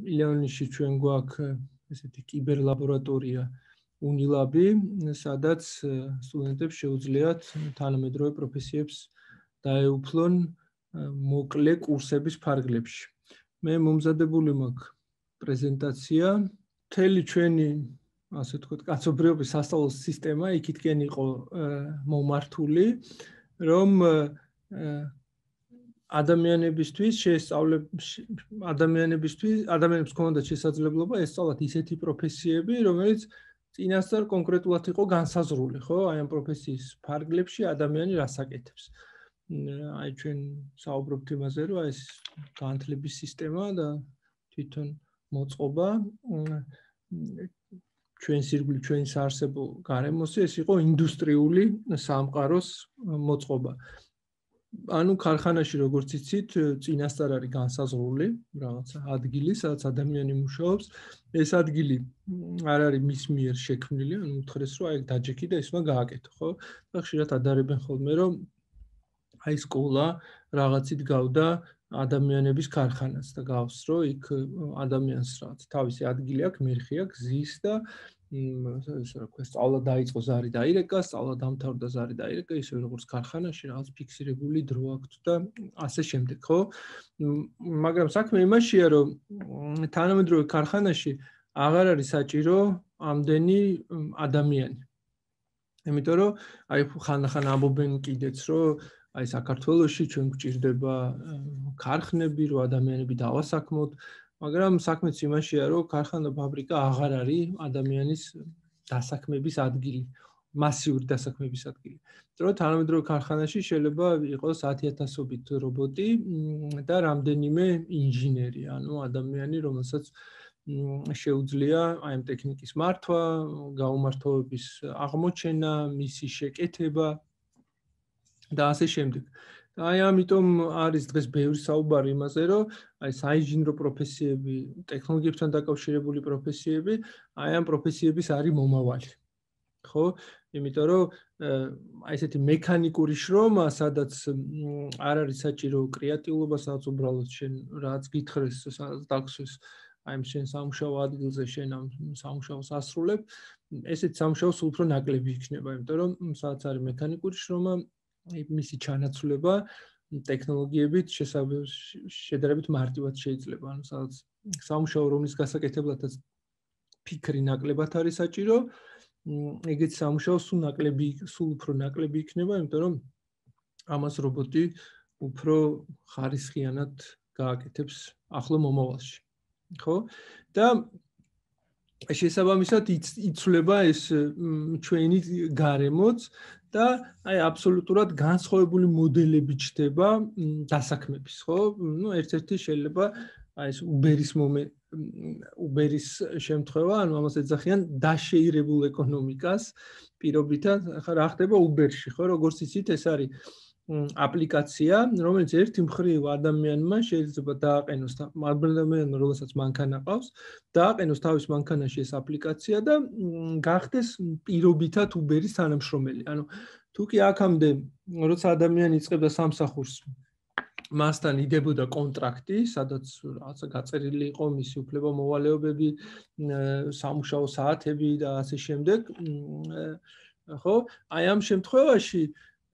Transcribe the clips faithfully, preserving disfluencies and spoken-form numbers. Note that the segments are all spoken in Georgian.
ილეონიში ჩვენ გვაქვს ესეთი კიბერლაბორატორია უნილაბი, სადაც სტუდენტებს შეუძლიათ თანამედროვე პროფესიებს დაეუფლონ მოკლე კურსების ფარგლებში. მე მომზადებული მაქვს პრეზენტაცია, მთელი ჩვენი ასე ვთქვათ, კაცობრიობის სასწავლო სისტემა იქითკენ იყო მომართული, რომ ადამიანებისთვის შეესწავლებს ადამიანებისთვის ადამიანებს ჰქონდათ შესაძლებლობა ესწავლათ ისეთი პროფესიები, რომელიც წინასწარ კონკრეტულად იყო განსაზღვრული, ხო? აი ამ პროფესიის ფარგლებში ადამიანი რას აკეთებს. აი ჩვენ საუბრობთ იმაზე, რომ ეს განათლების სისტემა და თვითონ მოწყობა ჩვენს ირგვლივ ჩვენს არსებულ გარემოში ეს იყო ინდუსტრიული სამყაროს მოწყობა. ანუ ქარხანაში როგორც იცით, წინასწარ არის განსაზღვრული რაღაცა ადგილი, სადაც ადამიანი მუშაობს. ეს ადგილი არ არის მის მიერ შექმნილი, ანუ უთხრეს რომ აი დაჯექი და ისმა გააკეთო, ხო? და ხშირად ადარებენ ხოლმე რომ აი სკოლა რაღაცით გავდა ადამიანების ქარხანას და გავს რომ იქ ადამიანს რაღაც თავისი ადგილი აქვს, მერხი აქვს, ზის და ესე რა ქვია, სწავლა დაიწყო, ზარი დაირეკა, სწავლა დამთავრდა, ზარი დაირეკა, ისე როგორც ქარხანაში რაღაც ფიქსირებული დრო აქვს და ასე შემდეგ, ხო? მაგრამ საქმე იმაშია, რომ თანამედროვე ქარხანაში აღარ არის საჭირო ამდენი ადამიანი. იმიტომ რომ აი ხანდახან ამბობენ კიდეც, რომ აი საქართველოში ჩვენ გვჭირდება ქარხნები, რომ ადამიანები დავასაქმოთ, მაგრამ საქმეც იმაშია, რომ ქარხანა ფაბრიკა აღარ არის ადამიანის დასაქმების ადგილი, მასიური დასაქმების ადგილი. იმიტომ რომ თანამედროვე ქარხანაში შეიძლება იყოს ათიათასობით რობოტი და რამდენიმე ინჟინერი, ანუ ადამიანი, რომელსაც შეუძლია აი ამ ტექნიკის მართვა, გაუმართოვების აღმოჩენა, მისი შეკეთება და ასე შემდეგ. აი ამიტომ არის დღეს ბევრი საუბარი იმაზე, რომ აი საინჟინრო პროფესიები, ტექნოლოგიებთან დაკავშირებული პროფესიები, აი ამ პროფესიების არის მომავალი. ხო? იმიტომ რომ აი ესეთი მექანიკური შრომა, სადაც არ არის საჭირო კრეატიულობა, სადაც უბრალოდ შენ რაც გითხრეს, სადაც დაგსვეს აი შენ სამუშაო ადგილზე შენ ამ სამუშაოს ასრულებ, ესეთ სამუშაოს უფრო ნაკლები იქნება, იმიტომ რომ სადაც არის მექანიკური შრომა, მისი ჩანაცვლება ტექნოლოგიებით შედარებით მარტივად შეიძლება. ანუ სადაც სამუშაო რომლის გასაკეთებლადაც ფიქრი ნაკლებად არის საჭირო, ეგეც სამუშაო სულ ნაკლები, სულ უფრო ნაკლები იქნება, იმიტომ რომ ამას რობოტი უფრო ხარისხიანად გააკეთებს ახლო მომავალში. ხო? და შესაბამისად იცვლება ეს ჩვენი გარემოც და აი აბსოლუტურად განსხვავებული მოდელები ჩდება დასაქმების, ხო? ნუ ერთ-ერთი შეიძლება აი ეს Uber-ის მომენტ Uber-ის შემთხვევა, ანუ ამას ეძახიან დაშეირებულ ეკონომიკას პირობითად. ახლა რა ხდება Uber-ში, ხო? როგორც იცით, ეს არის აპლიკაცია, რომელიც ერთი მხრივ ადამიანმა შეიძლება დააყენოს ადამიანმა, რომელსაც მანქანა ყავს, დააყენოს თავის მანქანაში ეს აპლიკაცია და გახდეს პირობითად Uber-ის თანამშრომელი. ანუ თუ კი აქამდე, როცა ადამიანი იწყებდა სამსახურს, მასთან იდებოდა კონტრაქტი, სადაც რაღაცა გაწერილი იყო მისი უფლება-მოვალეობები, სამუშაო საათები და ასე შემდეგ, ხო? აი ამ შემთხვევაში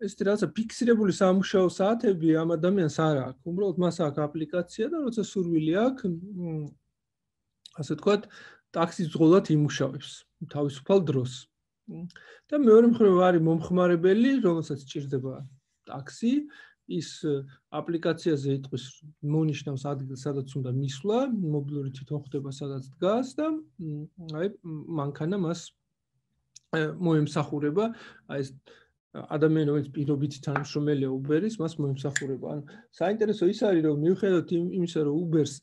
ეს რაღაცა ფიქსირებული სამუშაო საათები ამ ადამიანს არ აქვს. უბრალოდ მას აქვს აპლიკაცია და როცა სურვილი აქვს, ასე ვთქვათ, ტაქსის ძღოლად იმუშავებს თავისუფალ დროს. და მეორე მხრივ არის მომხმარებელი, რომელსაც სჭირდება ტაქსი, ის აპლიკაციაზე იტყვის მონიშნავს ადგილს, სადაც უნდა მისვლა, მობილური თვითონ ხდება, სადაც დგას და აი მანქანა მას მოემსახურება, აი ეს ადამიანი, რომელიც პირობითი თანამშრომელია Uber-ის, მას მოემსახურება. ანუ საინტერესო ის არის, რომ მიუხედავად იმისა, რომ Uber-ს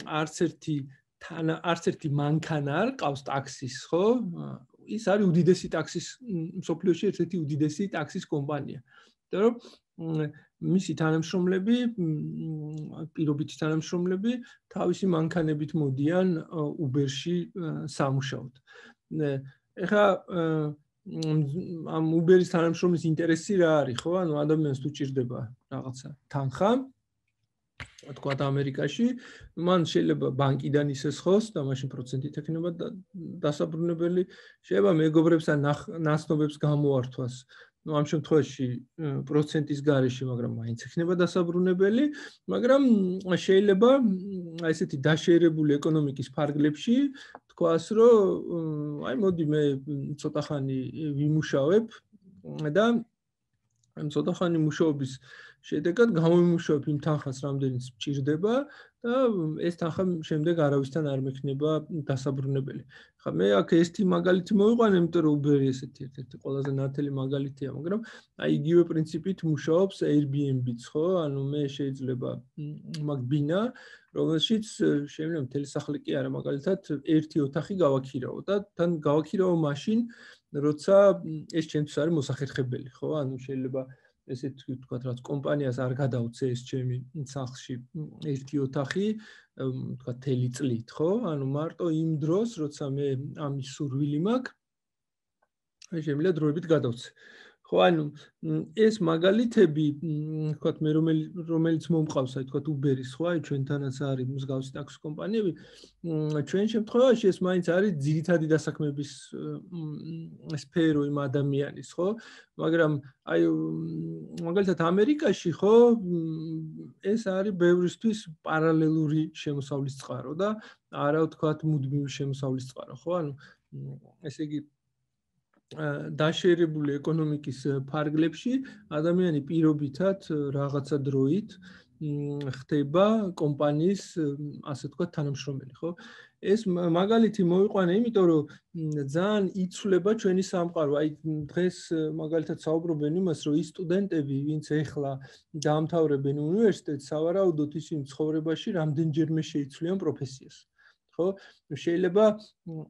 არც ერთი არც ერთი მანქანა არ ყავს ტაქსის, ხო? ის არის უდიდესი ტაქსის მსოფლიოში ერთ-ერთი უდიდესი ტაქსის კომპანია. იმიტომ რომ მისი თანამშრომლები, პირობითი თანამშრომლები თავისი მანქანებით მოდიან Uber-ში სამუშაოდ. ეხლა ამ Uber-ის თანამშრომლის ინტერესი რა არის, ხო? ანუ ადამიანს თუ ჭირდება რაღაცა თანხა, თქვათ ამერიკაში, მან შეიძლება ბანკიდან ისეს ხოს და მაშინ პროცენტით ექნება დასაბრუნებელი, შეიძლება მეგობრებს ან ნაცნობებს გამოართვას. Ну, ამ შემთხვევაში პროცენტის გარეშე, მაგრამ მაინც ექნება დასაბრუნებელი, მაგრამ შეიძლება აი ესეთი დაშერებული ეკონომიკის ფარგლებში თქვას, რომ აი მოდი მე ცოტა ხანი ვიმუშავებ და ამ ცოტა ხანი მუშაობის შედეგად გამომიმუშავებ იმ თანხას, რამდენიც მჭირდება და ეს თანხა შემდეგ არავისთან არ მექნება დასაბრუნებელი. ხა მე აქ ესეთი მაგალითი მოვიყვანე, იმიტომ რომ Uber-ი ესეთი ერთ-ერთი ყველაზე ნათელი მაგალითია, მაგრამ აი იგივე პრინციპით მუშაობს Airbnb-ც, ხო? ანუ მე შეიძლება მაგ ბინა, რომელშიც შეიძლება მთელი სახლი კი არა, მაგალითად ერთი ოთახი გავაქირავო და თან გავაქირავო მაშინ, როცა ეს ჩემთვის არის მოსახერხებელი, ხო? ანუ შეიძლება ესეთ ვთქვათ, რაც კომპანიას არ გადავცე ეს ჩემი სახლში ერთი ოთახი, ვთქვათ, თელი წლით, ხო? ანუ მარტო იმ დროს, როცა მე ამის სურვილი მაქვს, აი შემიძლია დროებით გადავცე. ხო, ანუ ეს მაგალითები, ვთქვათ, მე რომელიც მომყავს, აი ვთქვათ, Uber-ის, ხო, აი ჩვენთანაც არის მსგავსი ტაქსი კომპანიები, ჩვენ შემთხვევაში ეს მაინც არის ძირითადი დასაქმების სფერო იმ ადამიანის, ხო? მაგრამ აი მაგალითად ამერიკაში, ხო, ეს არის ბევრისთვის პარალელური შემოსავლის წყარო და არა ვთქვათ, მუდმივი შემოსავლის წყარო, ხო? ანუ ესე იგი დაშერებული ეკონომიკის ფარგლებში ადამიანი პირობითად რაღაცა დროით ხდება კომპანიის, ასე ვთქვათ, თანამშრომელი, ხო? ეს მაგალითი მოვიყვანე, იმიტომ რომ ძალიან იცვლება ჩვენი სამყარო. აი დღეს მაგალითად საუბრობენ იმას, რომ ის სტუდენტები, ვინც ეხლა დაამთავრებენ უნივერსიტეტს, სავარაუდოდ ისინი ცხოვრებაში რამდენჯერმე შეიცვლიან პროფესიას. ხო? შეიძლება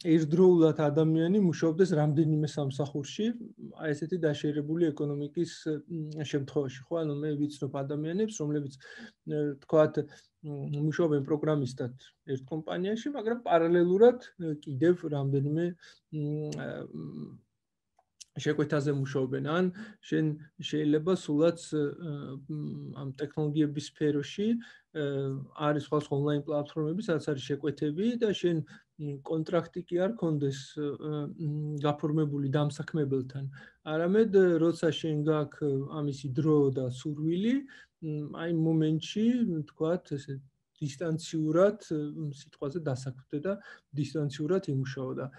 ერთდროულად ადამიანი მუშაობდეს რამდენიმე სამსახურში, აი ესეთი დაშერებული ეკონომიკის შემთხვევაში, ხო? ანუ მე ვიცნობ ადამიანებს, რომლებიც თქვათ, მუშაობენ პროგრამისტად ერთ კომპანიაში, მაგრამ პარალელურად კიდევ რამდენიმე შეკვეთაზე მუშაობენ. ან შენ შეიძლება სულაც ამ ტექნოლოგიების სფეროში არის სხვა ონლაინ პლატფორმები, სადაც არის შეკვეთები და შენ კონტრაქტი კი არ კონდეს გაფორმებული დამსაქმებელთან. არამედ როცა შენ გაქვს ამისი დრო და სურვილი, აი მომენტში, თქვათ, ესე დისტანციურად სიტყვაზე დასაქმდე და დისტანციურად იმუშაო და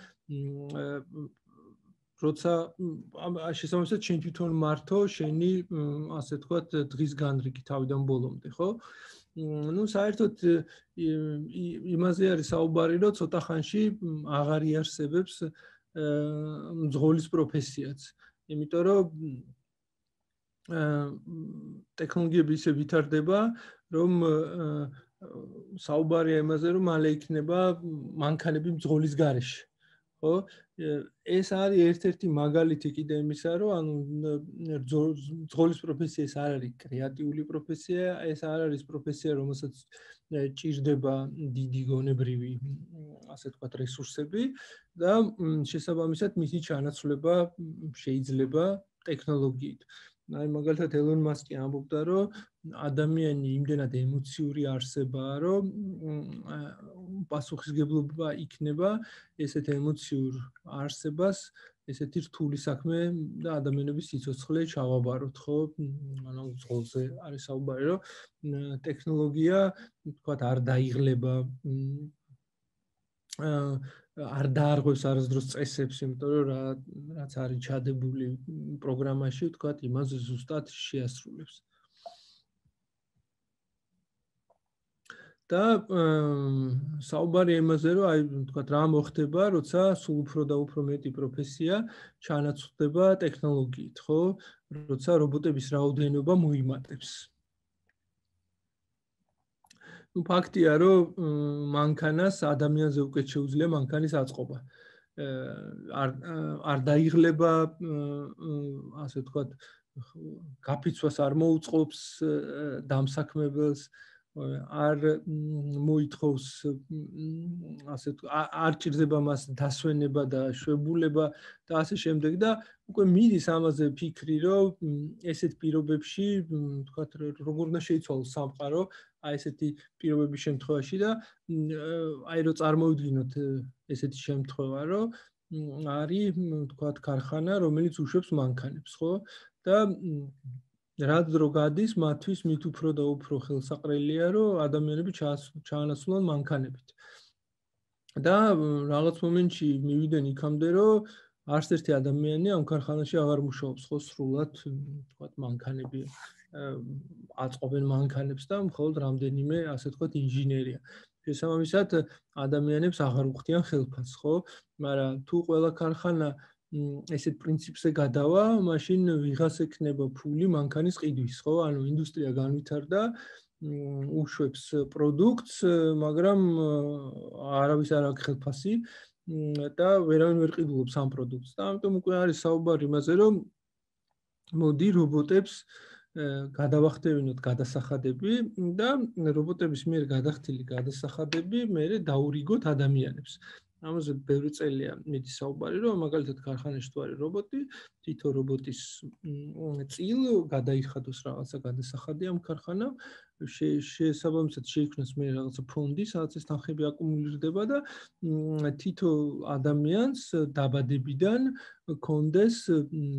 როცა შესაბამისად შენ თვითონ მართო შენი, ასე ვთქვათ, დღის განრიგი თავიდან ბოლომდე, ხო? ну საერთოდ იმაზე არის საუბარი, რომ ცოტა ხანში აღარ იარსებებს მძღოლის პროფესიაც. იმიტომ რომ ტექნოლოგიები ისე ვითარდება, რომ საუბარია იმაზე, რომ მალე იქნება მანქანები მძღოლის გარეშე. ხო? ეს არის ერთ-ერთი მაგალითი კიდე იმისა, რომ ანუ მძღოლის პროფესია ეს არ არის კრეატიული პროფესია, ეს არ არის პროფესია, რომელსაც ჭირდება დიდი გონებრივი, ასე ვთქვათ, რესურსები და შესაბამისად მისი ჩანაცვლება შეიძლება ტექნოლოგიით. აი მაგალითად ელონ მასკი ამბობდა, რომ ადამიანი იმდენად ემოციური არსებაა, რომ პასუხისგებლობა იქნება ესეთ ემოციურ არსებას, ესეთი რთული საქმე და ადამიანების სიცოცხლე ჩავაბაროთ, ხო? ანუ ზღოლზე არის საუბარი, რომ ტექნოლოგია, თქვათ, არ დაიღლება, არ დაარღვევს არასდროს წესებს, იმიტომ რომ რაც არის ჩადებული პროგრამაში, ვთქვათ, იმას ზუსტად შეასრულებს. და საუბარია იმაზე, რომ აი, ვთქვათ, რა მოხდება, როცა სულ უფრო და უფრო მეტი პროფესია ჩანაცვლდება ტექნოლოგიით, ხო? როცა რობოტების რაოდენობა მოიმატებს. ну ფაქტია, რომ მანქანას ადამიანზე უკეთ შეუძლია მანქანის აწყობა. არ არ დაიღლება, ასე ვთქვათ, გაფიცვას არ მოუწყობს დამსაქმებელს, არ მოითხოვს ასე არ ჭირდება მას დასვენება და შვებულება და ასე შემდეგ და უკვე მიდის ამაზე ფიქრი, რომ ესეთ პირობებში, თქვათ, როგორ უნდა შეიცვალოს სამყარო, აი ესეთი პირობების შემთხვევაში და აი რო წარმოვიდგინოთ ესეთი შემთხვევა, რომ არის, თქვათ, ქარხანა, რომელიც უშვებს მანქანებს, ხო? და რაც დრო გადის, მათთვის მით უფრო და უფრო ხელსაყრელია, რომ ადამიანები ჩაანაცვლონ მანქანებით. და რაღაც მომენტში მივიდნენ იქამდე, რომ არც ერთი ადამიანი ამ ქარხანაში აღარ მუშაობს, ხო, სრულად, თქვათ, მანქანები აწყობენ მანქანებს და მხოლოდ რამდენიმე, ასე თქვათ, ინჟინერია. შესაბამისად, ადამიანებს აღარ უხდიან ხელფასს, ხო? მაგრამ თუ ყველა ქარხანა ესეთ პრინციპზე გადავა, მაშინ ვიღას ექნება ფული მანქანის ყიდვის, ხო? ანუ ინდუსტრია განვითარდა, უშვებს პროდუქტს, მაგრამ არავის არ აქვს ხელფასი და ვერავინ ვერ ყიდულობს ამ პროდუქტს. და ამიტომ უკვე არის საუბარი იმაზე, რომ მოდი რობოტებს გადავახტევინოთ გადასახადები და რობოტების მიერ გადახდილი გადასახადები მერე დაურიგოთ ადამიანებს. ამაზე ბევრი წელია მიდის საუბარი, რომ მაგალითად ქარხანაში თუ არის რობოტი, თითო რობოტის წილ გადაიხადოს რაღაცა გადასახადი ამ ქარხანამ, შესაბამისად შეიქმნას მე რაღაცა ფონდი, სადაც ეს თანხები აკუმულირდება და თითო ადამიანს დაბადებიდან კონდეს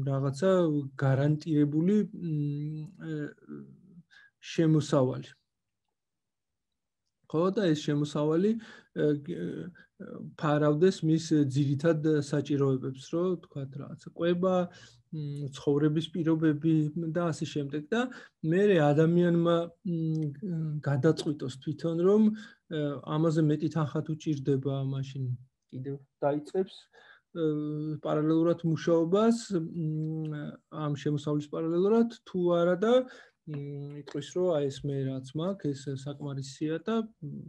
რაღაცა გარანტირებული შემოსავალი. ხო და ეს შემოსავალი ფარავდეს მის ძირითად საჭიროებებს, რომ თქვათ რაღაცა კვება, ცხოვრების პირობები და ასე შემდეგ და მერე ადამიანმა გადაწყვიტოს თვითონ რომ ამაზე მეტი თანხა თუ ჭირდება, მაშინ კიდევ დაიწყებს პარალელურად მუშაობას ამ შემოსავლის პარალელურად თუ არა და იტყვის რომ აი ეს მე რაც მაქვს ეს საკმარისია და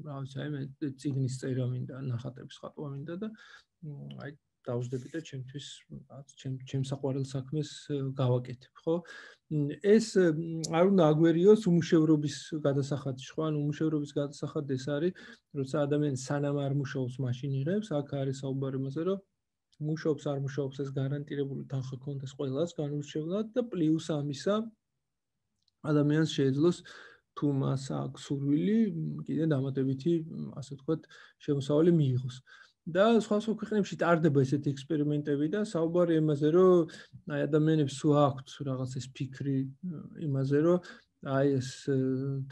რა ვიცი აი მე წიგნის წერა მინდა ნახატების ხატვა მინდა და აი დავждები და ჩემთვის რაც ჩემ ჩემ საყვარელ საქმეს გავაკეთებ ხო ეს არ უნდა აგვერიოს უმუშევრობის გადასახადში ხო ანუ უმუშევრობის გადასახადი ეს არის როცა ადამიანი სანამ არ მუშაობს მაშინ იღებს აქ არის საუბარი იმაზე რომ მუშაობს არ მუშაობს ეს გარანტირებული თანხა ქონდეს ყველას განურჩევლად და პლუს ამისა ადამიანს შეეძლოს თუ მას აქვს სურვილი კიდე დამატებითი ასე ვთქვათ შემოსავალი მიიღოს და სხვა სხვა ქვეყნებში ტარდება ესეთი ექსპერიმენტები და საუბარი იმაზე რომ აი ადამიანებს თუ აქვთ რაღაც ეს ფიქრი იმაზე რომ აი ეს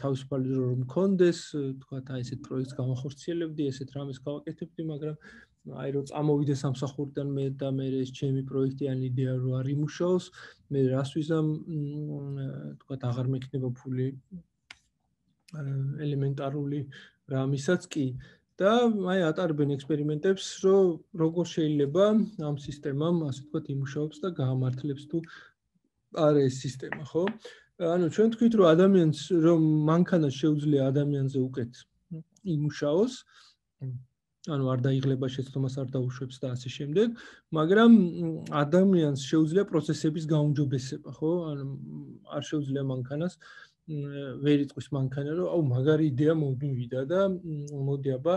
თავისუფალი დრო რომ მქონდეს ვთქვათ აი ესეთ პროექტს გამახორციელებდი ესეთ რამეს გავაკეთებდი მაგრამ აი რო წამოვიდე სამსახურიდან მე და მე ეს ჩემი პროექტი ან იდეა რო არ იმუშაოს მე რას ვიზამ თქვათ აღარ მექნება ფული ელემენტარული რამისაც კი და აი ატარებენ ექსპერიმენტებს რომ როგორ შეიძლება ამ სისტემამ ასე ვთქვათ იმუშაობს და გაამართლებს თუ არა ეს სისტემა ხო ანუ ჩვენ თქვით რომ ადამიანს რომ მანქანას შეუძლია ადამიანზე უკეთ იმუშაოს ანუ არ დაიღლება შეცდომას არ დაუშვებს და ასე შემდეგ, მაგრამ ადამიანს შეუძლია პროცესების გაუმჯობესება, ხო? ანუ არ შეუძლია მანქანას ვერ იტყვის მანქანა, რომ აუ მაგარი იდეა მომივიდა და მოდი აბა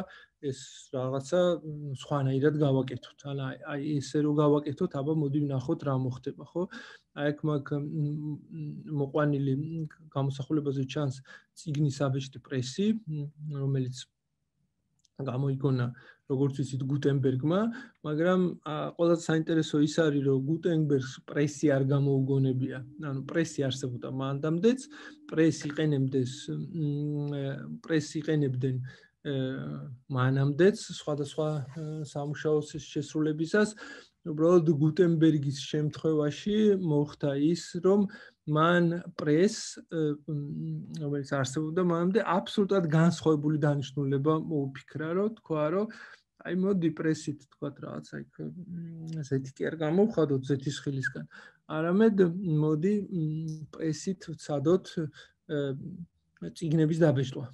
ეს რაღაცა სხვანაირად გავაკეთოთ. ანუ აი ესე რომ გავაკეთოთ, აბა მოდი ვნახოთ რა მოხდება, ხო? აი აქ მაგ მოყვანილი გამოსახულებაზე ჩანს წიგნის აბეჭდი პრესი, რომელიც გამოიგონა როგორც ვიცით გუტენბერგმა, მაგრამ ყველაზე საინტერესო ის არის რომ გუტენბერგს პრესი არ გამოუგონებია. ანუ პრესი არსებობდა მანდამდეც, პრესი იყენებდეს პრესი იყენებდნენ მანამდეც სხვადასხვა სამუშაოს შესრულებისას. უბრალოდ გუტენბერგის შემთხვევაში მოხდა ის, რომ მან პრეს, რომელიც არსებობდა მანამდე, აბსოლუტურად განსხვავებული დანიშნულება მოუფიქრა, რომ თქვა, რომ აი მოდი პრესით თქვათ რაღაცა იქ ზეთი კი არ გამოვხადოთ ზეთის ხილისგან. არამედ მოდი პრესით ვცადოთ წიგნების დაბეჭდვა.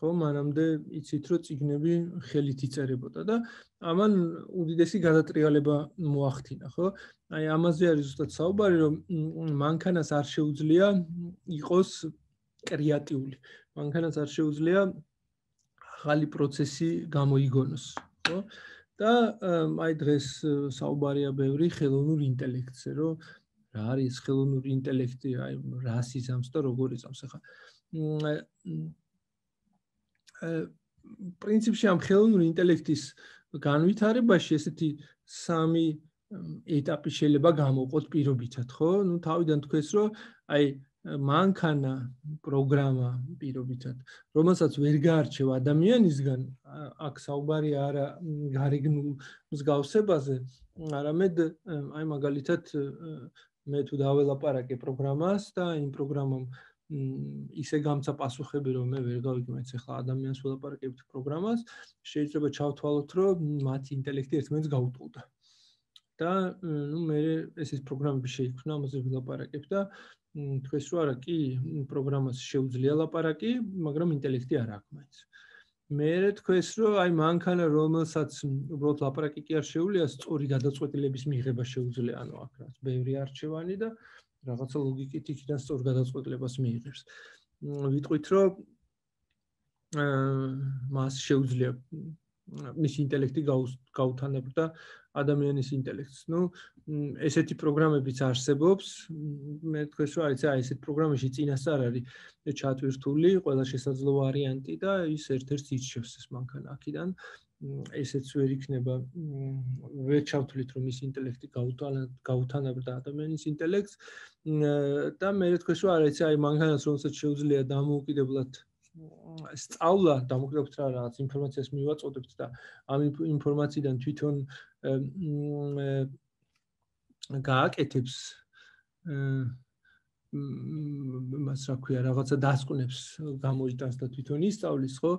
ხო, მანამდე იცით რომ წიგნები ხელით იწერებოდა და ამან უდიდესი გადატრიალება მოახდინა, ხო? აი ამაზე არის ზუსტად საუბარი, რომ მანქანას არ შეუძლია იყოს კრეატიული. მანქანას არ შეუძლია ახალი პროცესი გამოიგონოს, ხო? და აი დღეს საუბარია ბევრი ხელოვნურ ინტელექტზე, რომ რა არის ხელოვნური ინტელექტი, აი რას იზამს და როგორ იზამს. ახლა პრინციპში ამ ხელოვნური ინტელექტის განვითარებაში ესეთი სამი ეტაპი შეიძლება გამოვყოთ პირობითად, ხო? ნუ თავიდან თქვეს, რომ აი მანქანა, პროგრამა პირობითად, რომელსაც ვერ გაარჩევ ადამიანისგან, აქ საუბარია არა გარეგნულ მსგავსებაზე, არამედ აი მაგალითად მე თუ დაველაპარაკე პროგრამას და იმ პროგრამამ ისე გამცა პასუხები, რომ მე ვერ გავიგე, მეც ახლა ადამიანს ველაპარაკებთ პროგრამას, შეიძლება ჩავთვალოთ, რომ მათი ინტელექტი ერთმანეთს გაუტოლდა. და ნუ მე ეს პროგრამები შეიქმნა, ამაზე ვილაპარაკებ და თქვეს რომ არა, კი, პროგრამას შეუძლია ლაპარაკი, მაგრამ ინტელექტი არ აქვს მაინც. მერე თქვეს რომ აი მანქანა, რომელსაც უბრალოდ ლაპარაკი კი არ შეუძლია, სწორი გადაწყვეტილების მიღება შეუძლია, ანუ აქ რაც ბევრი არჩევანი და რაღაცა ლოგიკით იქიდან სწორ გადაწყვეტილებას მიიღებს. ვიტყვით რომ მას შეუძლია მის ინტელექტი გაუთანაბრდა ადამიანის ინტელექტს. ნუ ესეთი პროგრამებიც არსებობს. მე თქვენ რომ აი ესეთ პროგრამაში წინასწარ არის ჩატვირთული ყველა შესაძლო ვარიანტი და ის ერთ-ერთს ირჩევს ეს მანქანა აქედან. ესეც ვერ იქნება ვერ ჩავთვლით რომ ის ინტელექტი გაუთანაბრდა ადამიანის ინტელექტს და მე თქვენ რომ არა აი მანქანას რომელსაც შეუძლია დამოუკიდებლად სწავლა, დამოკიდებულებად რა რაღაც ინფორმაციას მივაწოდებთ და ამ ინფორმაციიდან თვითონ გააკეთებს მას რა ქვია, რაღაცა დასკვნებს გამოიტანს და თვითონ ისწავლის, ხო?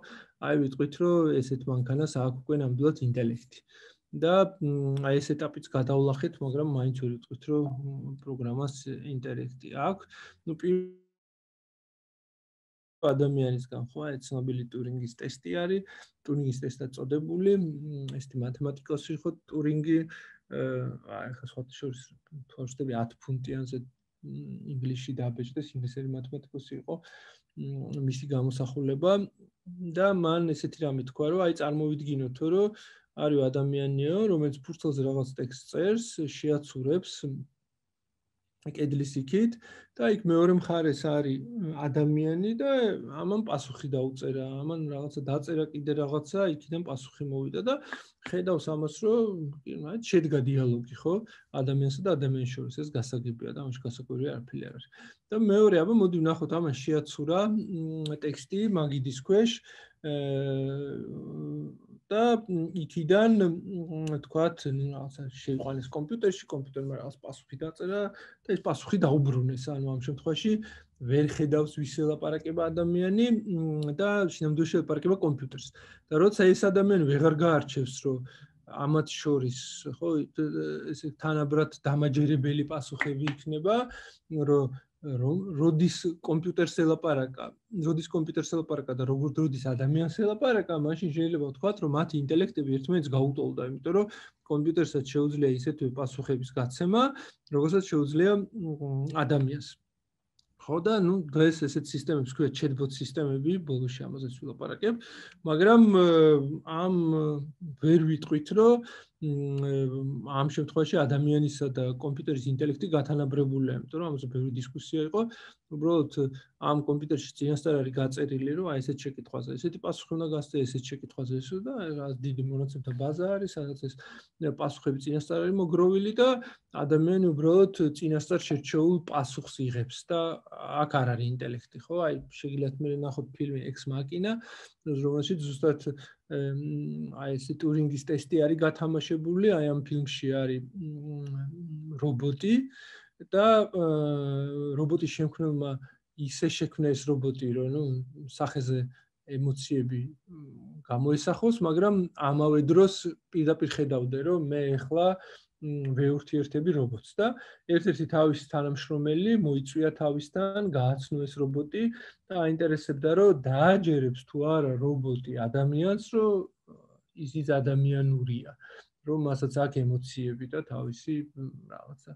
აი ვიტყვით, რომ ესეთ მანქანას აქვს უკვე ნამდვილად ინტელექტი. და აი ეს ეტაპიც გადავლახეთ, მაგრამ მაინც ვერ ვიტყვით, რომ პროგრამას ინტელექტი აქვს. ნუ ადამიანისგან ხო, აი ცნობილი ტურინგის ტესტი არის, ტურინგის ტესტად წოდებული, ესეთი მათემატიკოსი ხო, ტურინგი, აი ხა სხვა შორის თორშტები ათი ფუნტიანზე ინგლისში დაბეჭდეს, ინგლისელი მათემატიკოსი იყო, მისი გამოსახულება და მან ესეთი რამე თქვა, რომ აი წარმოვიდგინოთ, რომ არის ადამიანიო, რომელიც ფურცელზე რაღაც ტექსტს წერს, შეაცურებს კედლის იქით და იქ მეორე მხარეს არის ადამიანი და ამან პასუხი დაუწერა, ამან რაღაცა დაწერა კიდე რაღაცა, იქიდან პასუხი მოვიდა და ხედავს ამას, რომ შედგა დიალოგი, ხო? ადამიანსა და ადამიანის შორის, ეს გასაგებია და ამაში გასაკვირი არაფერი არ არის. და მეორე, აბა მოდი ვნახოთ, ამან შეაცურა ტექსტი მაგიდის ქვეშ და იქიდან თქვათ, რაღაცა შეიყვანეს კომპიუტერში, კომპიუტერმა რაღაც პასუხი დაწერა და ეს პასუხი დაუბრუნეს, ანუ ამ შემთხვევაში ვერ ხედავს ვის ელაპარაკება ადამიანი და შინამდვილეში ელაპარაკება კომპიუტერს. და როცა ეს ადამიანი ვეღარ გაარჩევს, რომ ამათ შორის, ხო, ესე თანაბრად დამაჯერებელი პასუხები იქნება, რომ როდის კომპიუტერს ელაპარაკა, როდის კომპიუტერს ელაპარაკა და როგორ როდის ადამიანს ელაპარაკა, მაშინ შეიძლება ვთქვათ, რომ მათი ინტელექტები ერთმანეთს გაუტოლდა, იმიტომ რომ კომპიუტერსაც შეუძლია ისეთვე პასუხების გაცემა, როგორცაც შეუძლია ადამიანს. ხო და ნუ დღეს ესეთ სისტემებს ქვია chatbot სისტემები, ბოლოში ამაზეც ვილაპარაკებ, მაგრამ ამ ვერ ვიტყვით, რომ ამ შემთხვევაში ადამიანისა და კომპიუტერის ინტელექტი გათანაბრებულია, იმიტომ რომ ამაზე ბევრი დისკუსია იყო. უბრალოდ ამ კომპიუტერში წინასწარ არის გაწერილი, რომ აი ესეთ შეკითხვაზე ესეთი პასუხი უნდა გასცე, ესეთ შეკითხვაზე ესო და რა დიდი მონაცემთა ბაზა არის, სადაც ეს პასუხები წინასწარ არის მოგროვილი და ადამიანი უბრალოდ წინასწარ შერჩეულ პასუხს იღებს და აქ არ არის ინტელექტი, ხო? აი შეგიძლიათ მე ნახოთ ფილმი Ex Machina, რომელშიც ზუსტად აი ეს ტურინგის ტესტი არის გათამაშებული, აი ამ ფილმში არის რობოტი და რობოტის შემქმნელმა ისე შექმნა ეს რობოტი, რომ ნუ სახეზე ემოციები გამოესახოს, მაგრამ ამავე დროს პირდაპირ ხედავდე, რომ მე ახლა ვეურთიერთები რობოტს და ერთ-ერთი თავის თანამშრომელი მოიწვია თავისთან, გააცნო ეს რობოტი და აინტერესებდა, რომ დააჯერებს თუ არა რობოტი ადამიანს, რომ ისიც ადამიანურია, რომ მასაც აქვს ემოციები და თავისი რაღაცა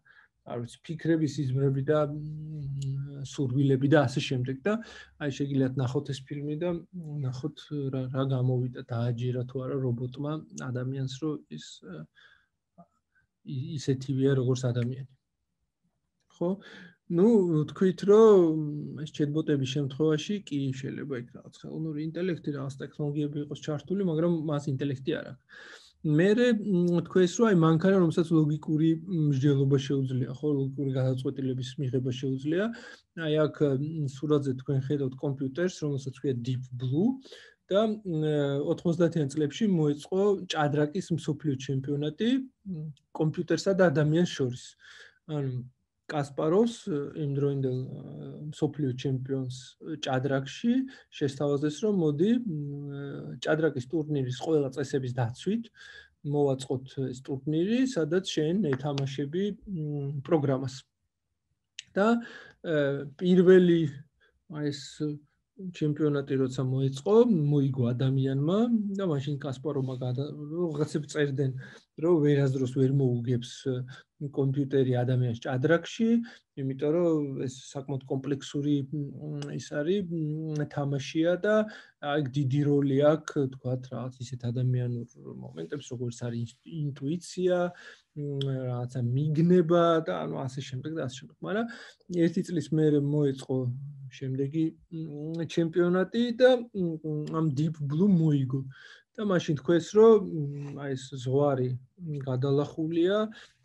არ ვიცი, ფიქრების იზმრები და სურვილები და ასე შემდეგ და აი შეგიძლიათ ნახოთ ეს ფილმი და ნახოთ რა რა გამოვიდა დააჯერა თუ არა რობოტმა ადამიანს რომ ის ისეთივეა როგორც ადამიანი. ხო? Ну, თქვით რომ ეს ჩატბოტების შემთხვევაში კი შეიძლება იქ რაღაც ხელოვნური ინტელექტი, რაღაც ტექნოლოგიები იყოს ჩართული, მაგრამ მას ინტელექტი არ აქვს. მერე თქვენს რომ აი მანქანა რომელსაც ლოგიკური მსჯელობა შეუძლია, ხო, ლოგიკური გადაწყვეტილების მიღება შეუძლია. აი აქ სურათზე თქვენ ხედავთ კომპიუტერს, რომელსაც ქვია Deep Blue და ოთხმოცდაათიან წლებში მოეწყო ჭადრაკის მსოფლიო ჩემპიონატი კომპიუტერსა და ადამიანს შორის. ანუ კასპაროვს იმ დროინდელ მსოფლიო ჩემპიონს ჭადრაკში შესთავაზეს რომ მოდი ჭადრაკის ტურნირის ყველა წესების დაცვით მოვაწყოთ ეს ტურნირი, სადაც შენ ეთამაშები პროგრამას. და პირველი ეს ჩემპიონატი როცა მოეწყო, მოიგო ადამიანმა და მაშინ კასპაროვმა რაღაცებს წერდნენ, რომ ვერასდროს ვერ მოუგებს კომპიუტერი ადამიანს ჭადრაკში, იმიტომ რომ ეს საკმაოდ კომპლექსური ის არის თამაშია და აი დიდი როლი აქვს, თქვათ, რაღაც ისეთ ადამიანურ მომენტებს, როგორც არის ინტუიცია, რაღაცა მიგნება და ანუ ასე შემდეგ და ასე შემდეგ. მაგრამ ერთი წლის მერე მოეწყო შემდეგი ჩემპიონატი და ამ Deep Blue მოიგო. და მაშინ თქვენს რომ აი ეს ზღვარი გადალახულია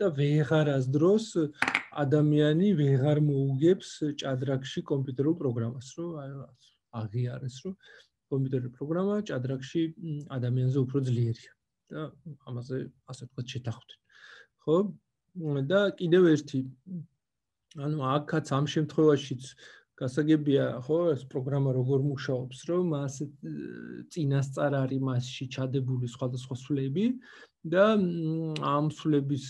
და ვეღარას დროს ადამიანი ვეღარ მოუგებს ჭადრაკში კომპიუტერულ პროგრამას, რომ აი აღიარეს, რომ კომპიუტერული პროგრამა ჭადრაკში ადამიანზე უფრო ძლიერია და ამაზე ასე ვთქვათ შეთანხმდნენ. ხო? და კიდევ ერთი ანუ აქაც ამ შემთხვევაშიც გასაგებია, ხო, ეს პროგრამა როგორ მუშაობს, რომ მას წინასწარ არის მასში ჩადებული სხვადასხვა სვლები და ამ სვლების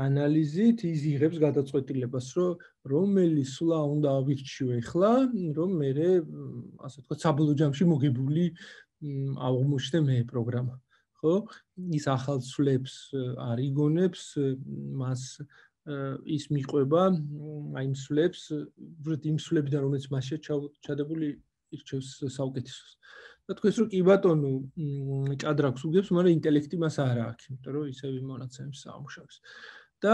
ანალიზით ის იღებს გადაწყვეტილებას, რომ რომელი სვლა უნდა ავირჩიო ახლა, რომ მე ასე ვთქვათ, საბოლოო ჯამში მოგებული აღმოჩნდე მე პროგრამა. ხო? ის ახალ სვლებს არ იგონებს, მას ის მიყვება აი იმ სვლებს, უბრალოდ იმ სვლებიდან რომელიც მასშია ჩადებული ირჩევს საუკეთესოს. და თქვენს რომ კი ბატონო ჭადრაკს უგებს, მაგრამ ინტელექტი მას არ აქვს, იმიტომ რომ ისევ იმ მონაცემებს ამუშავებს. და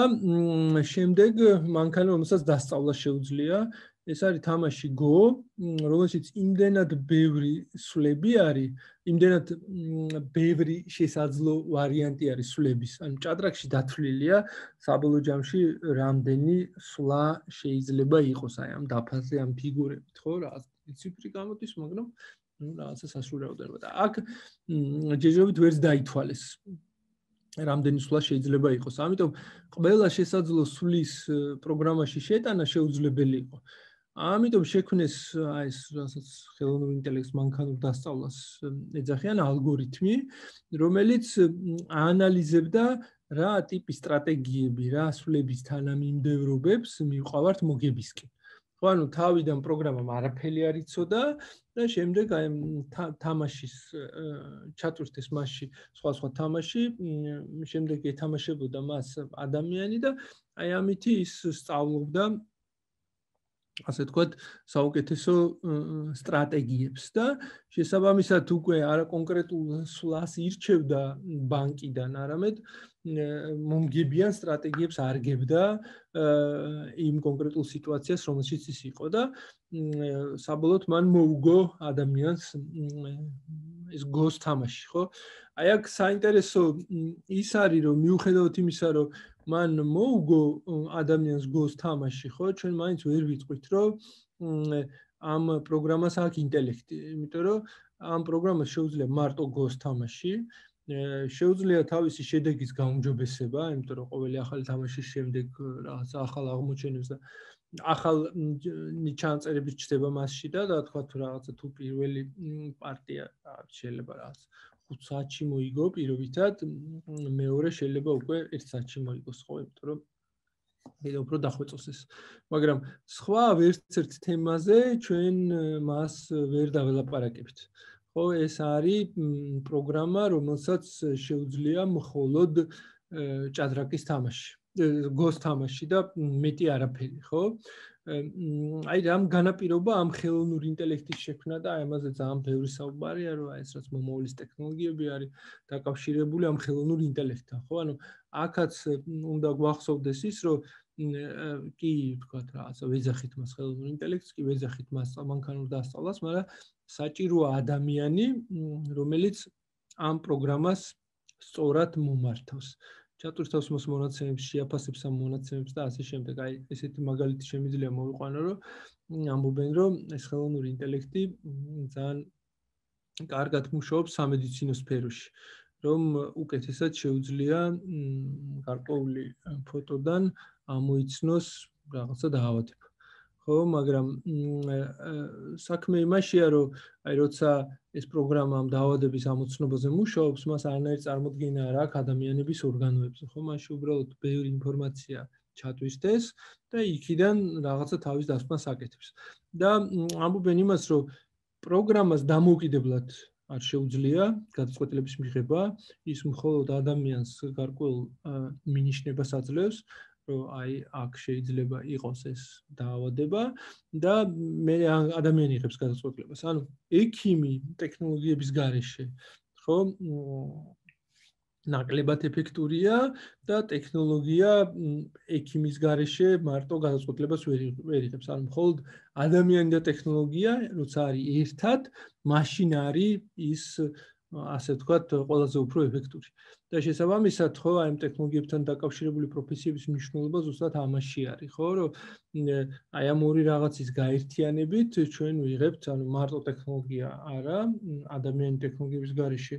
შემდეგ მანქანა რომელსაც დასწავლა შეუძლია, ეს არის თამაში Go, რომელშიც იმდენად ბევრი სვლები არის, იმდენად ბევრი შესაძლო ვარიანტი არის სვლების. ანუ ჭადრაკში დათვლილია საბოლოო ჯამში რამდენი სვლა შეიძლება იყოს აი ამ დაფაზე, ამ ფიგურებით, ხო, რაღაც ციფრი გამოდის, მაგრამ ну რაღაცა სასურველდება და აქ ჯერჯერობით ვერც დაითვალეს რამდენი სვლა შეიძლება იყოს. ამიტომ ყველა შესაძლო სვლის პროგრამაში შეტანა შეუძლებელი იყო. ამიტომ შექმნეს აი ეს რასაც ხელოვნური ინტელექტის მანქანურ დასწავლას ეძახიან ალგორითმი, რომელიც აანალიზებდა რა ტიპის სტრატეგიები, რა სვლების თანამიმდევრობებს მივყავართ მოგებისკენ. ხო, ანუ თავიდან პროგრამამ არაფერი არ იცოდა და შემდეგ აი თამაშის ჩატვირთეს მასში სხვა სხვა თამაში, შემდეგ ეთამაშებოდა მას ადამიანი და აი ამითი ის სწავლობდა ასე ვთქვათ, საუკეთესო სტრატეგიებს და შესაბამისად უკვე არა კონკრეტულ სვლას ირჩევდა ბანკიდან, არამედ მომგებიან სტრატეგიებს არგებდა იმ კონკრეტულ სიტუაციას, რომელშიც ის იყო და საბოლოოდ მან მოუგო ადამიანს ეს Go-ს თამაში, ხო? აი აქ საინტერესო ის არის, რომ მიუხედავად იმისა, რომ მან მოუგო ადამიანს Go-ს თამაში, ხო? ჩვენ მაინც ვერ ვიტყვით, რომ ამ პროგრამას აქვს ინტელექტი, იმიტომ რომ ამ პროგრამას შეუძლია მარტო Go-ს თამაში, შეუძლია თავისი შედეგის გაუმჯობესება, იმიტომ რომ ყოველი ახალი თამაშის შემდეგ რაღაც ახალ აღმოჩენებს და ახალ ჩანაწერები ჩდება მასში და და თქვა თუ რაღაცა თუ პირველი პარტია შეიძლება რაღაც ხუთ საათში მოიგო პირობითად, მეორე შეიძლება უკვე ერთ საათში მოიგოს, ხო, იმიტომ რომ კიდევ უფრო დახვეწოს ეს. მაგრამ სხვა ვერც ერთ თემაზე ჩვენ მას ვერ დაველაპარაკებთ. ხო, ეს არის პროგრამა, რომელსაც შეუძლია მხოლოდ ჭადრაკის თამაში. გოს თამაში და მეტი არაფერი, ხო? აი რამ განაპირობა ამ ხელოვნური ინტელექტის შექმნა და აი ამაზე ძალიან ბევრი საუბარია, რომ აი ეს რაც მომავლის ტექნოლოგიები არის დაკავშირებული ამ ხელოვნურ ინტელექტთან, ხო? ანუ აქაც უნდა გვახსოვდეს ის, რომ კი ვთქვათ რაღაცა ვეძახით მას ხელოვნურ ინტელექტს, კი ვეძახით მას მანქანურ დასწავლას, მაგრამ საჭიროა ადამიანი, რომელიც ამ პროგრამას სწორად მომართავს. ჩატვირთავს მას მონაცემებს, შეაფასებს ამ მონაცემებს და ასე შემდეგ. აი ესეთი მაგალითი შემიძლია მოვიყვანო, რომ ამბობენ, რომ ეს ხელოვნური ინტელექტი ძალიან კარგად მუშაობს სამედიცინო სფეროში, რომ უკეთესად შეუძლია გარკვეული ფოტოდან ამოიცნოს რაღაცა დაავადება. ხო, მაგრამ საქმე იმაშია, რომ აი როცა ეს პროგრამა ამ დაავადების ამოცნობაზე მუშაობს, მას არანაირი წარმოდგენა არ აქვს ადამიანების ორგანოებზე, ხო? მაშინ უბრალოდ ბევრი ინფორმაცია ჩატვირთეს და იქიდან რაღაცა თავის დასკვნას აკეთებს. და ამბობენ იმას, რომ პროგრამას დამოუკიდებლად არ შეუძლია გადაწყვეტილების მიღება, ის მხოლოდ ადამიანს გარკვეულ მინიშნებას აძლევს, რომ აი აქ შეიძლება იყოს ეს დაავადება და მე ადამიანი იღებს გადაწყვეტილებას. ანუ ექიმი ტექნოლოგიების გარეშე, ხო, ნაკლებად ეფექტურია და ტექნოლოგია ექიმის გარეშე მარტო გადაწყვეტილებას ვერ იღებს. ანუ მხოლოდ ადამიანი და ტექნოლოგია, როცა არის ერთად, მაშინ არის ის ასე ვთქვათ, ყველაზე უფრო ეფექტური. და შესაბამისად, ხო, აი ამ ტექნოლოგიებთან დაკავშირებული პროფესიების მნიშვნელობა ზუსტად ამაში არის, ხო, რომ აი ამ ორი რაღაცის გაერთიანებით ჩვენ ვიღებთ, ანუ მარტო ტექნოლოგია არა, ადამიანი ტექნოლოგიების გარეშე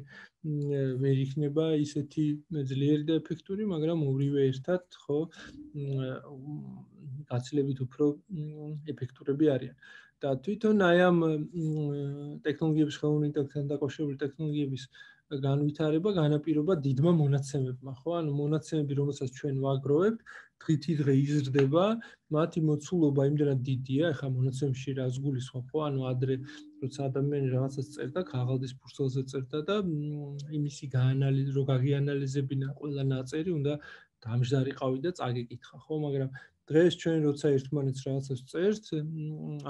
ვერ იქნება ისეთი ძლიერი და ეფექტური, მაგრამ ორივე ერთად, ხო, გაცილებით უფრო ეფექტურები არიან. და თვითონ აი ამ ტექნოლოგიების ხელოვნური ინტელექტთან დაკავშირებული ტექნოლოგიების განვითარება განაპირობა დიდმა მონაცემებმა, ხო? ანუ მონაცემები, რომელსაც ჩვენ ვაგროვებთ, დღითიდღე იზრდება, მათი მოცულობა იმდენად დიდია, ახლა მონაცემებში რას გულისხმობ, ხო? ანუ ადრე როცა ადამიანი რაღაცას წერდა, ქაღალდის ფურცელზე წერდა და იმისი გაანალიზ, რო გაგიანალიზებინა ყველა ნაწერი, უნდა დამждარიყავი და წაგეკითხა, ხო? მაგრამ დღეს ჩვენ როცა ერთმანეთს რაღაცას წერთ,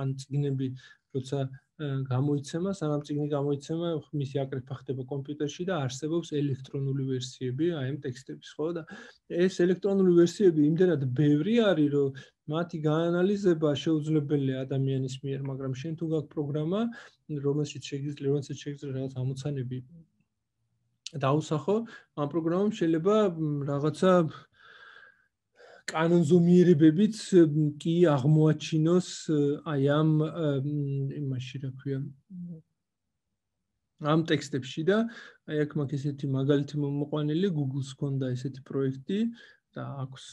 ან წიგნები როცა გამოიცემა, სანამ წიგნი გამოიცემა, მისი აკრეფა ხდება კომპიუტერში და არსებობს ელექტრონული ვერსიები აი ამ ტექსტების, ხო? და ეს ელექტრონული ვერსიები იმდენად ბევრი არის, რომ მათი გაანალიზება შეუძლებელია ადამიანის მიერ, მაგრამ შენ თუ გაქვს პროგრამა, რომელშიც შეგიძლია, რომელსაც შეგიძლია რაღაც ამოცანები დაუსახო, ამ პროგრამამ შეიძლება რაღაცა კანონზომიერებებით კი აღმოაჩინოს აი ამ იმაში რა ქვია ამ ტექსტებში და აი აქ მაქვს ესეთი მაგალითი მომოყვანილი, Google-ს ჰქონდა ესეთი პროექტი და აქვს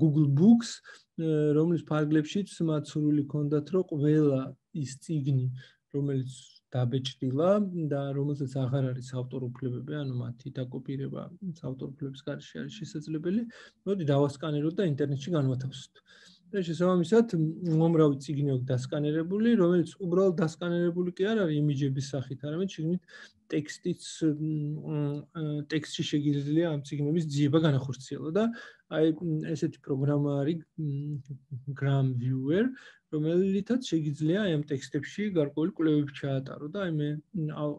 Google Books, რომლის ფარგლებშიც მათ სურვილი ჰქონდათ, რომ ყველა ის წიგნი, რომელიც დაბეჭდილა და რომელსაც აღარ არის ავტორ უფლებები, ანუ მათი დაკოპირება ავტორ უფლების გარეშე არის შესაძლებელი, მოდი დავასკანეროთ და ინტერნეტში განვათავსოთ. და შესაბამისად, უამრავი წიგნი აქვს დასკანერებული, რომელიც უბრალოდ დასკანერებული კი არ არის იმიჯების სახით, არამედ შიგნით ტექსტიც ტექსტში შეგიძლია ამ წიგნების ძიება განახორციელო და აი ესეთი პროგრამა არის Gram Viewer, რომელიცაც შეგიძლია აი ამ ტექსტებში გარკვეული კვლევები ჩაატარო და აი მე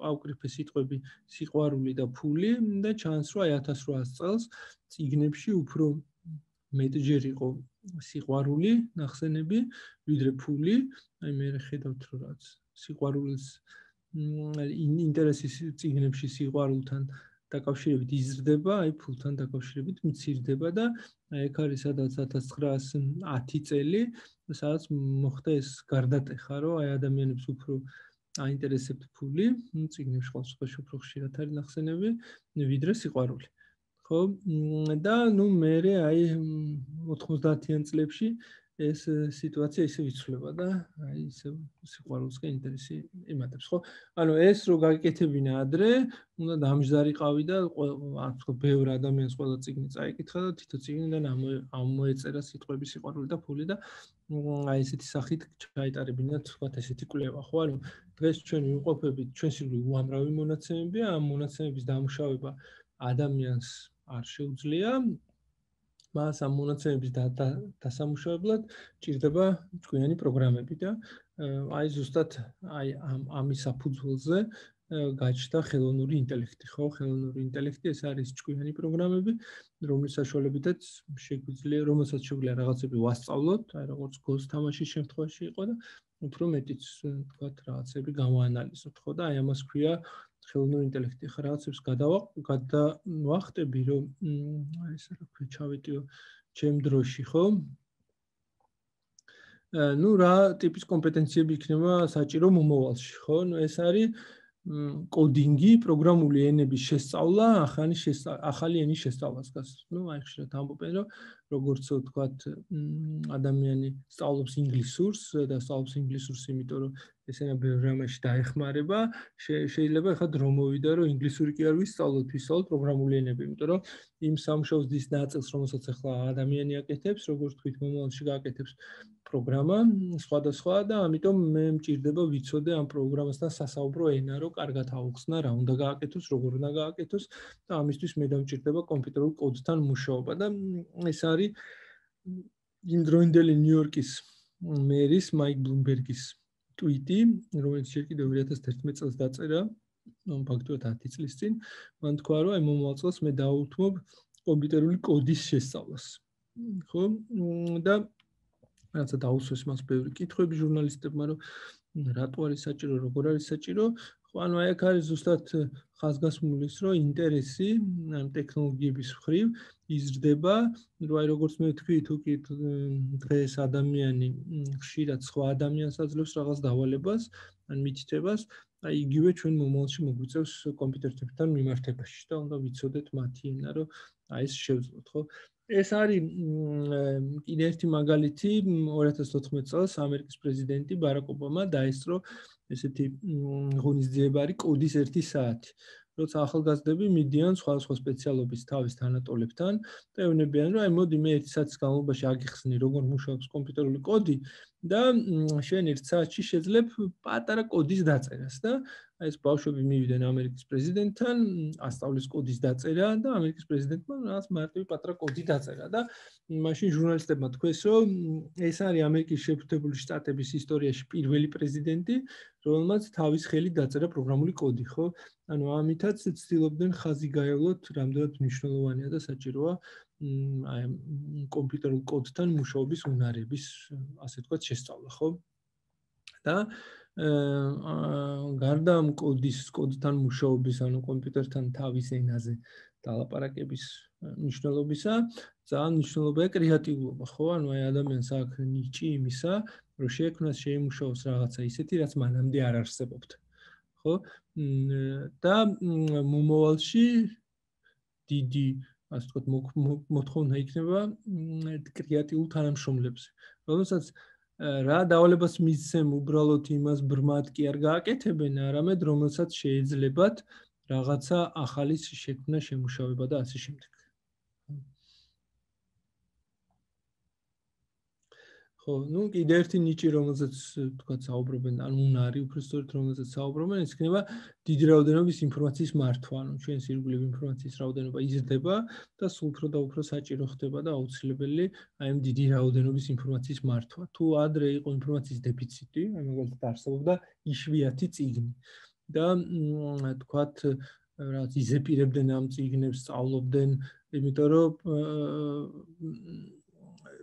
ავკრიფე სიტყვები სიყვარული და ფული და ჩანს, რომ აი ათას რვაას წელს წიგნებში უფრო მეტჯერ იყო სიყვარული ნახსენები, ვიდრე ფული. აი მე ხედავთ, რომ რაც სიყვარულის ინტერესის წიგნებში სიყვარულთან დაკავშირებით იზრდება, აი ფულთან დაკავშირებით მცირდება და აი ეგ არის სადაც ათას ცხრაას ათი წელი, სადაც მოხდა ეს გარდატეხა, რომ აი ადამიანებს უფრო აინტერესებთ ფული, წიგნებში ყოველთვის უფრო ხშირად არის ნახსენები, ვიდრე სიყვარული. ხო, და ნუ მე აი ოთხმოცდაათიან წლებში ეს სიტუაცია ისე ვიცვლება და აი ისე სიყვარულსკენ ინტერესი იმატებს, ხო? ანუ ეს რო გაგიკეთებინა ადრე, უნდა დამждარიყავი და ასე ბევრ ადამიანს ყველა წიგნი წაიკითხა და თითო წიგნიდან ამოეწერა სიტყვები სიყვარული და ფული და აი ესეთი სახით ჩაიტარებინა თქვათ ესეთი კვლევა, ხო? ანუ დღეს ჩვენ ვიმყოფებით, ჩვენს უამრავი მონაცემებია, ამ მონაცემების დამუშავება ადამიანს არ შეუძლია მას ამ მონაცემების დასამუშავებლად ჭირდება ჭკვიანი პროგრამები და აი ზუსტად აი ამ ამის საფუძველზე გაჩნდა ხელოვნური ინტელექტი, ხო, ხელოვნური ინტელექტი ეს არის ჭკვიანი პროგრამები, რომლის საშუალებითაც შეგვიძლია, რომელსაც შეგვიძლია რაღაცები ვასწავლოთ, აი როგორც გოს თამაშის შემთხვევაში იყო და უფრო მეტიც თქვათ რაღაცები გავაანალიზოთ, ხო და აი ამას ქვია ხელოვნური ინტელექტი. ხა რაღაცებს გადავახტები, რომ აი ესე რა ქვია, ჩავეტიო ჩემ დროში, ხო? ну რა ტიპის კომპეტენციები იქნება საჭირო მომავალში, ხო? ну ეს არის კოდინგი, პროგრამული ენების შესწავლა, ახალი ახალი ენის შესწავლას გას. ну აი ხშირად ამბობენ, რომ როგორც ვთქვათ, ადამიანი სწავლობს ინგლისურს და სწავლობს ინგლისურს, იმიტომ რომ ესენა ბევრ რამაში დაეხმარება, შეიძლება ახლა დრო მოვიდა, რომ ინგლისური კი არ ვისწავლოთ, ვისწავლოთ პროგრამული ენები, იმიტომ რომ იმ სამუშაოს დის ნაწილს, რომელსაც ახლა ადამიანი აკეთებს, როგორც თქვით, მომავალში გააკეთებს პროგრამა, სხვადასხვა და ამიტომ მე მჭირდება ვიცოდე ამ პროგრამასთან სასაუბრო ენა, რომ კარგად აუხსნა, რა უნდა გააკეთოს, როგორ უნდა გააკეთოს და ამისთვის მე დამჭირდება კომპიუტერულ კოდთან მუშაობა და ეს არის იმ დროინდელი ნიუ-იორკის მერის მაიკ ბლუმბერგის ტვიტი, რომელიც ჯერ კიდევ ორი ათას ერთმეტ წელს დაწერა, ფაქტობრივად ათი წლის წინ, მან თქვა, რომ აი მომავალ წელს მე დავუთმობ კომპიუტერული კოდის შესწავლას. ხო? და რაცა დაუსვეს მას ბევრი კითხვები ჟურნალისტებმა, რომ რატო არის საჭირო, როგორ არის საჭირო. ხო, ანუ აი აქ არის ზუსტად ხაზგასმული ის, რომ ინტერესი ამ ტექნოლოგიების მხრივ იზრდება, რომ აი როგორც მე ვთქვი, თუ კი დღეს ადამიანი ხშირად სხვა ადამიანს აძლევს რაღაც დავალებას, ან მითითებას, აი იგივე ჩვენ მომავალში მოგვიწევს კომპიუტერებთან მიმართებაში და უნდა ვიცოდეთ მათი ენა, რომ აი ეს შევძლოთ, ხო? ეს არის კიდე ერთი მაგალითი, ორი ათას ოთხმეტ წელს ამერიკის პრეზიდენტი ბარაკ ობამა დაესწრო ესეთი ღონისძიებარი კოდის ერთი საათი. როცა ახალგაზრდები მიდიან სხვადასხვა სპეციალობის თავის თანატოლებთან და ეუბნებიან, რომ აი მოდი მე ერთი საათის განმავლობაში აგიხსნი, როგორ მუშაობს კომპიუტერული კოდი და შენ ერთ საათში შეძლებ პატარა კოდის დაწერას და აი ეს ბავშვები მივიდნენ ამერიკის პრეზიდენტთან, ასწავლის კოდის დაწერა და ამერიკის პრეზიდენტმა რაღაც მარტივი პატარა კოდი დაწერა და მაშინ ჟურნალისტებმა თქვეს, რომ ეს არის ამერიკის შეერთებული შტატების ისტორიაში პირველი პრეზიდენტი, რომელმაც თავის ხელით დაწერა პროგრამული კოდი, ხო? ანუ ამითაც ცდილობდნენ ხაზი გაევლოთ, რამდენად მნიშვნელოვანია და საჭიროა აი კომპიუტერულ კოდთან მუშაობის უნარების, ასე ვთქვათ, შესწავლა, ხო? და გარდა ამ კოდის, კოდთან მუშაობის, ანუ კომპიუტერთან თავის ენაზე დალაპარაკების მნიშვნელობისა, ძალიან მნიშვნელოვანია კრეატიულობა, ხო? ანუ აი ადამიანს აქვს ნიჭი იმისა, რომ შეექმნას, შეიმუშაოს რაღაცა ისეთი, რაც მანამდე არ არსებობდა. ხო? და მომავალში დიდი, ასე ვთქვათ, მოთხოვნა იქნება კრეატიულ თანამშრომლებზე, რომელსაც რა დავალებას მისცემ უბრალოდ იმას ბრმად კი არ გააკეთებენ, არამედ რომელსაც შეიძლებათ რაღაცა ახალის შექმნა, შემუშავება და ასე შემდეგ. ხო, ну კიდე ერთი ნიჭი, რომელზეც თქვათ საუბრობენ, ან უნარი, უფრო სწორედ რომელზეც საუბრობენ, ის იქნება დიდი რაოდენობის ინფორმაციის მართვა, ანუ ჩვენს ირგვლივ ინფორმაციის რაოდენობა იზრდება და სულ უფრო და უფრო საჭირო ხდება და აუცილებელი აი ამ დიდი რაოდენობის ინფორმაციის მართვა. თუ ადრე იყო ინფორმაციის დეფიციტი, აი მაგალითად არსებობდა იშვიათი წიგნი და თქვათ რაღაც იზეპირებდნენ ამ წიგნებს, სწავლობდნენ, იმიტომ რომ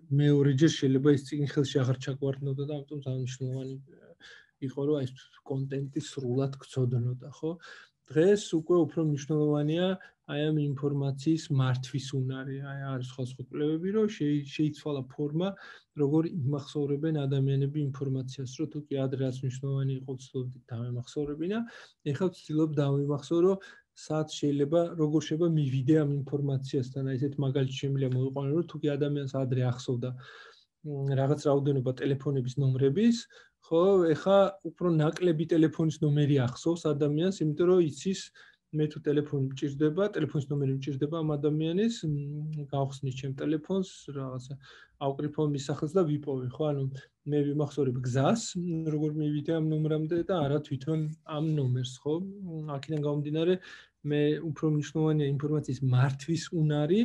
მეორეჯერ შეიძლება ის წიგნი ხელში აღარ ჩაგვარდნოდა და ამიტომ ძალიან მნიშვნელოვანი იყო, რომ აი ეს კონტენტი სრულად გწოდნოდა, ხო? დღეს უკვე უფრო მნიშვნელოვანია აი ამ ინფორმაციის მართვის უნარი, აი არის სხვადასხვა კვლევები, რომ შეიცვალა ფორმა, როგორ იმახსოვრებენ ადამიანები ინფორმაციას, რომ თუ კი ადრე რაც მნიშვნელოვანი იყო, ვცდილობდით დავემახსოვრებინა, ეხლა ვცდილობ დავიმახსოვრო, სად შეიძლება, როგორ შეიძლება მივიდე ამ ინფორმაციასთან, აი ესეთ მაგალითი შემიძლია მოვიყვანო, რომ თუ კი ადამიანს ადრე ახსოვდა რაღაც რაოდენობა ტელეფონების ნომრების, ხო, ეხლა უფრო ნაკლები ტელეფონის ნომერი ახსოვს ადამიანს, იმიტომ რომ იცის მე თუ ტელეფონი მჭირდება, ტელეფონის ნომერი მჭირდება ამ ადამიანის, გავხსნი ჩემ ტელეფონს, რაღაცა ავკრიფო მის სახელს და ვიპოვე, ხო, ანუ მე ვიმახსოვრებ გზას, როგორ მივიდე ამ ნომრამდე და არა თვითონ ამ ნომერს, ხო? აქედან გამომდინარე, მე უფრო მნიშვნელოვანია ინფორმაციის მართვის უნარი,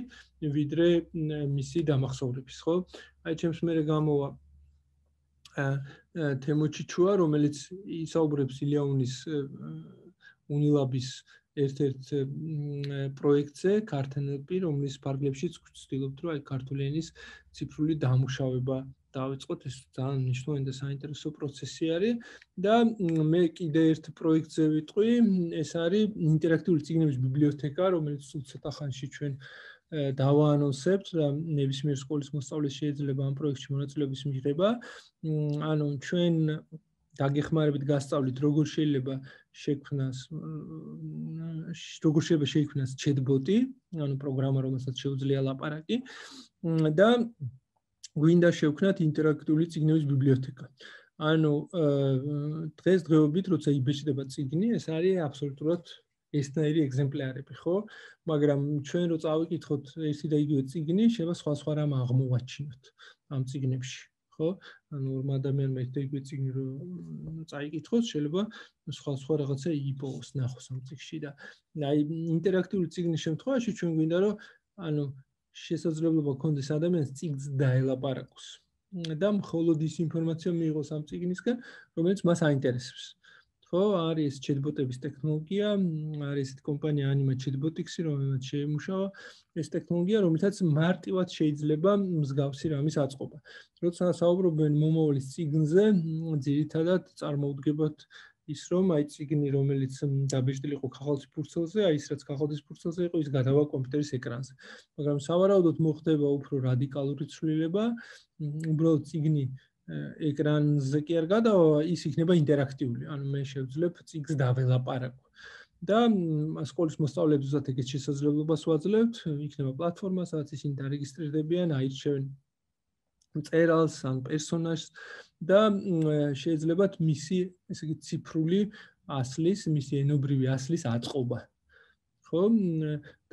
ვიდრე მისი დამახსოვრების, ხო? აი ჩემს მერე გამოვა თემოჩიჩუა, რომელიც ისაუბრებს ილიაუნის უნილაბის ერთ-ერთ პროექტზე, ქართენელპი, რომლის ფარგლებშიც ვცდილობთ, რომ აი ქართული ენის ციფრული დამუშავება დავიწყოთ, ეს ძალიან მნიშვნელოვანი და საინტერესო პროცესი არის და მე კიდე ერთ პროექტზე ვიტყვი, ეს არის ინტერაქტიული წიგნების ბიბლიოთეკა, რომელიც სულ ცოტა ხანში ჩვენ დავაანონსებთ და ნებისმიერ სკოლის მოსწავლეს შეიძლება ამ პროექტში მონაწილეობის მიღება. ანუ ჩვენ დაგეხმარებით გასწავლით, როგორ შეიძლება შექმნას როგორ შეიძლება შეიქმნას chatbot-ი, ანუ პროგრამა, რომელსაც შეუძლია ლაპარაკი და გვინდა შევქმნათ ინტერაქტიული წიგნების ბიბლიოთეკა. ანუ დღეს დღეობით, როცა იბეჭდება წიგნი, ეს არის აბსოლუტურად ესნაირი ეგზემპლარები, ხო? მაგრამ ჩვენ რო წავიკითხოთ ერთი და იგივე წიგნი, შეიძლება სხვა სხვა რამ აღმოვაჩინოთ ამ წიგნებში, ხო? ანუ ორმა ადამიანმა ერთი და იგივე წიგნი რო წაიკითხოს, შეიძლება სხვა სხვა რაღაცა იპოვოს, ნახოს ამ წიგნში და აი ინტერაქტიული წიგნის შემთხვევაში ჩვენ გვინდა რომ ანუ შესაძლებლობა გქონდეს ადამიანს წიგნს დაელაპარაკოს და მხოლოდ ის ინფორმაცია მიიღოს ამ წიგნისგან, რომელიც მას აინტერესებს. ხო, არის chatbot-ების ტექნოლოგია, არის ესეთი კომპანია Anima Chatbotics-ი, რომელიც შეიმუშავა ეს ტექნოლოგია, რომელთაც მარტივად შეიძლება მსგავსი რამის აწყობა. როცა საუბრობენ მომავლის წიგნზე, ძირითადად წარმოუდგებათ ის რომ აი წიგნი რომელიც დაბეჭდილი იყო ქაღალდის ფურცელზე, აი ის რაც ქაღალდის ფურცელზე იყო, ის გადავა კომპიუტერის ეკრანზე. მაგრამ სავარაუდოდ მოხდება უფრო რადიკალური ცვლილება, უბრალოდ წიგნი ეკრანზე კი არ გადავა, ის იქნება ინტერაქტიული. ანუ მე შევძლებ წიგნს დაველაპარაკო. და სკოლის მოსწავლეებსაც ეგეთ შესაძლებლობას ვაძლევთ, იქნება პლატფორმა, სადაც ისინი დარეგისტრირდებიან, აირჩევენ მწერალს ან პერსონაჟს და შეიძლებათ მისი, ესე იგი, ციფრული ასლის, მისი ენობრივი ასლის აწყობა. ხო?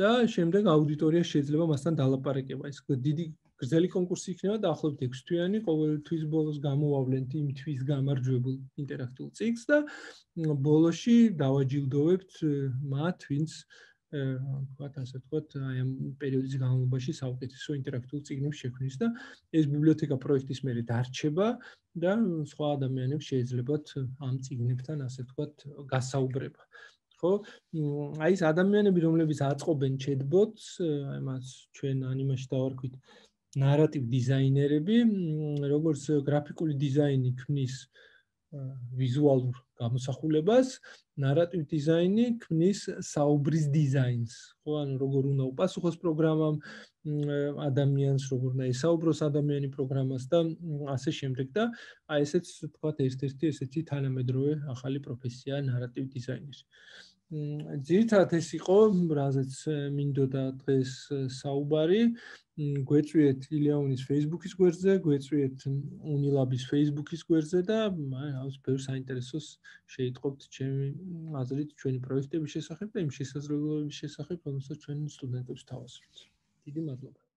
და შემდეგ აუდიტორია შეიძლება მასთან დალაპარაკება. ეს დიდი გრძელი კონკურსი იქნება დაახლოებით ექვსი თვიანი, ყოველ თვის ბოლოს გამოვავლენთ იმ თვის გამარჯვებულ ინტერაქტიულ წიგნს და ბოლოში დავაჯილდოვებთ მათ, ვინც ვთქვათ, ასე ვთქვათ, აი ამ პერიოდის განმავლობაში საუკეთესო ინტერაქტიულ წიგნებს შექმნის და ეს ბიბლიოთეკა პროექტის მერე დარჩება და სხვა ადამიანებს შეიძლებათ ამ წიგნებთან, ასე ვთქვათ, გასაუბრება. ხო? აი ეს ადამიანები, რომლებიც აწყობენ chatbots, აი მას ჩვენ Anima-ში დავარქვით ნარატივ დიზაინერები, როგორც გრაფიკული დიზაინი ქმნის ვიზუალურ გამოსახულებას, ნარატივ დიზაინი ქმნის საუბრის დიზაინს. ხო, ანუ როგორ უნდა უპასუხოს პროგრამამ ადამიანს, როგორ უნდა ესაუბროს ადამიანი პროგრამას და ასე შემდეგ და აი ესეც თქვათ ერთ-ერთი ესეთი თანამედროვე ახალი პროფესია ნარატივ დიზაინერი. ძირითადად ეს იყო, რაზეც მინდოდა დღეს საუბარი. გვეწვიეთ ილიაუნის Facebook-ის გვერდზე, გვეწვიეთ უნილაბის Facebook-ის გვერდზე და აი, ბევრ საინტერესოს შეიტყობთ ჩემი აზრით ჩვენი პროექტების შესახებ და იმ შესაძლებლობების შესახებ, რომელსაც ჩვენ სტუდენტებს თავაზობთ. დიდი მადლობა.